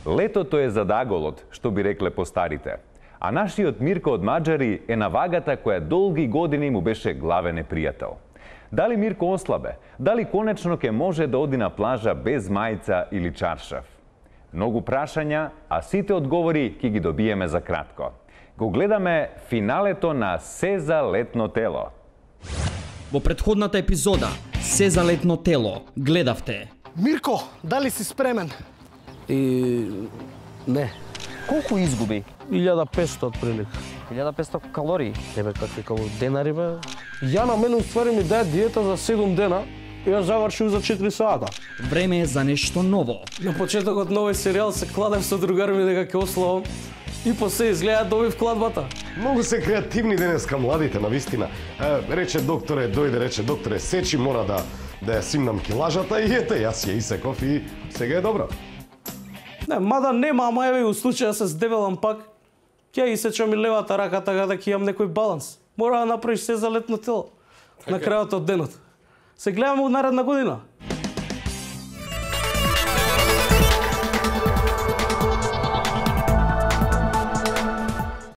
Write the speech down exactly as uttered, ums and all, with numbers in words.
Летото е задаголот, што би рекле постарите. А нашиот Мирко од Маџари е на вагата која долги години му беше главен непријател. Дали Мирко ослабе? Дали конечно ќе може да оди на плажа без мајца или чаршаф? Многу прашања, а сите одговори ќе ги добиеме за кратко. Го гледаме финалето на Се за летно тело. Во претходната епизода Се за летно тело гледавте. Мирко, дали си спремен? И... не. Колку изгуби? илјада и песто отприлика. илјада и песто калории. Тебе какви калории? Денари бе? Ја на мене уствари ми даде диета за седум дена и ја завршив за четири сата. Време е за нешто ново. На почетокот на овој серијал се кладев со другари ми дека ќе ославам и после изгледа добив кладбата. Многу се креативни денеска младите, навистина. Е, рече докторе, дојде, рече докторе, сечи, мора да да ја симнам килажата и ете, јас ја исеков и сега е добро. Не, мада нема, ама еве у случаја се здебелам пак, ќе исечам и левата рака така да ќе имам некој баланс. Мора да направиш се за летно тело на крајот од денот. Се гледаме у наредна година.